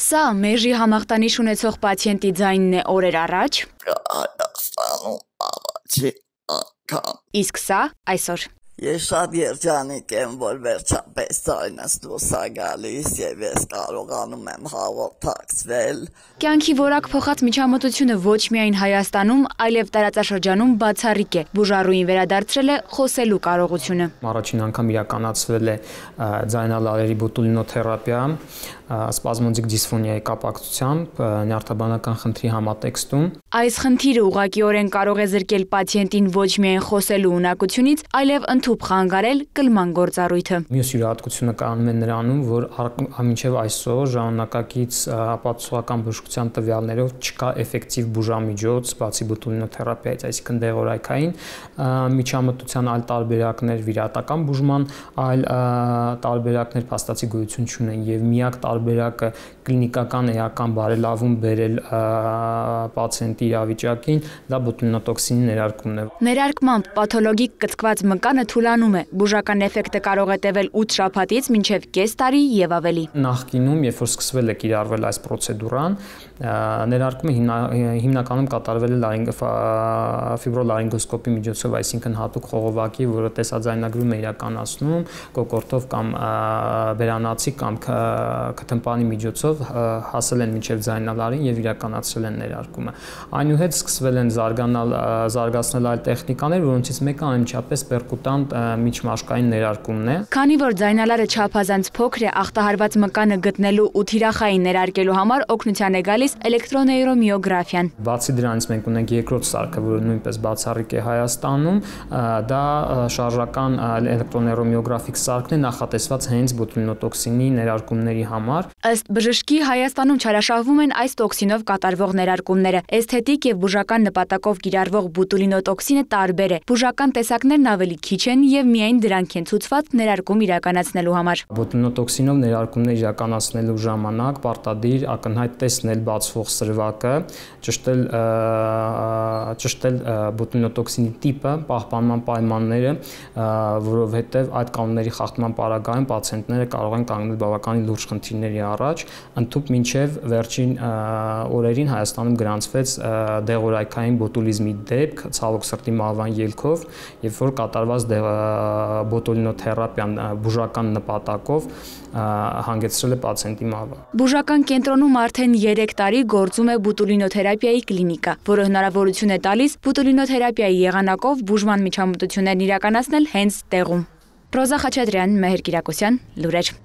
Սա մեժի համախտանիշ ունեցող պացիենտի ձայնն է օրեր առաջ, իսկ սա այսօր։ Ես շատ երջանիկ եմ, որ վերջապես ձայնս դուրս է գալիս եւ ես կարողանում եմ հաղորդակցվել։ Կյանքի որակ փոխած միջամտությունը ոչ միայն Հայաստանում, այլև տարածաշրջանում բացառիկ է։ Բուժառուին վերադարձրել է խոսելու կարողությունը։ Առաջին անգամ իրականացվել է ձայնալարերի բոտուլինոթերապիա սպազմոդիկ դիսֆոնիայի կապակցությամբ նյարդաբանական խնդրի համատեքստում։ Այս խնդիրը ուղղակիորեն կարող է զրկել պացիենտին ոչ միայն խոսելու ունակությունից, այլև ընդհուպ խանգարել կլման գործառույթը։ Մյուս յուրահատկությունը կանում է նրանում, որ մինչև այսօր ժամանակակից ապացուցողական բժշկության տվյալներով չկա էֆեկտիվ բուժամիջոց, բացի բոտուլինոթերապիայից, այսինքն դեղորայքային միջամտության այլ տարբերակներ, վիրահատական բուժման այլ տարբերակներ փաստացի գոյություն չունեն եւ միակ տարբերակը կլինիկական էական բարելավում բերել պացիենտի իրավիճակին դա բոտուլինոտոքսինի ներարկումն է։ Ներարկմամբ պաթոլոգիկ կծկված մկանը թուլանում է։ Բուժական էֆեկտը կարող է տևել 8 շաբաթից մինչև կես տարի եւ ավելի։ Նախկինում, երբ որ սկսվել է կիրառվել այս պրոցեդուրան, ներարկումը հիմնականում կատարվել է ֆիբրոլարինգոսկոպի միջոցով, այսինքն հատուկ խողովակի, որը տեսաձայնագրում է իրականացնում կոկորդով կամ բերանացի կամ քթմպանի միջոցով հասել են մինչև ձայնալարին եւ իրականացրել են ներարկումը։ Այնուհետ սկսվել են զարգացնել այլ տեխնիկաներ, որոնցից մեկը անմիջապես պերկուտանտ միջմաշկային ներարկումն է։ Քանի որ ձայնալարը չափազանց փոքր է, ախտահարված մկանը գտնելու ու թիրախային ներարկելու համար օգնության է գալիս էլեկտրոնեյրոմիոգրաֆիան։ Բացի դրանից մենք ունենք երկրորդ սարքը, որը նույնպես բացառիկ է Հայաստանում, դա շարժական էլեկտրոնեյրոմիոգրաֆիկ սարքն է նախատեսված հենց բոտուլինոտոքսինի ներարկումների համար։ Ըստ բժշկի Հայաստանում չարաշահվում են այս տոքսինով կատարվող ներարկումները։ Էսթետիկ եւ բուժական նպատակով կիրառվող բոտուլինոտոքսինը տարբեր է։ Բուժական տեսակներն ավելի քիչ են եւ միայն դրանք են ցուցված ներարկում իրականացնելու համար։ Բոտուլինոտոքսինով ներարկումներ իրականացնելու ժամանակ պարտադիր ակնհայտ տեսնել բացվող սրվակը, ճշտել բոտուլինոտոքսինի տիպը, պահպանման պայմանները, որովհետեւ այդ կանոնների խախտման պարագայում պացիենտները կարող են կանգնել բավականին լուրջ խնդիրների առաջ, ընդհուպ մինչև վերջին օրերին Հայաստանում գրանցվեց դեղորայքային բոտուլիզմի դեպք ցավոք սրտի մահվան ելքով, երբ որ կատարված բոտուլինոթերապիան բուժական նպատակով հանգեցրել է պացիենտի մահվան։ Բուժական կենտրոնում արդեն 3 տարի գործում է բոտուլինոթերապիայի կլինիկա, որը հնարավորություն է տալիս բոտուլինոթերապիայի եղանակով բուժման միջամտություններն իրականացնել հենց տեղում։ Ռոզա Խաչատրյան, Մեհեր Կիրակոսյան, լուրեր։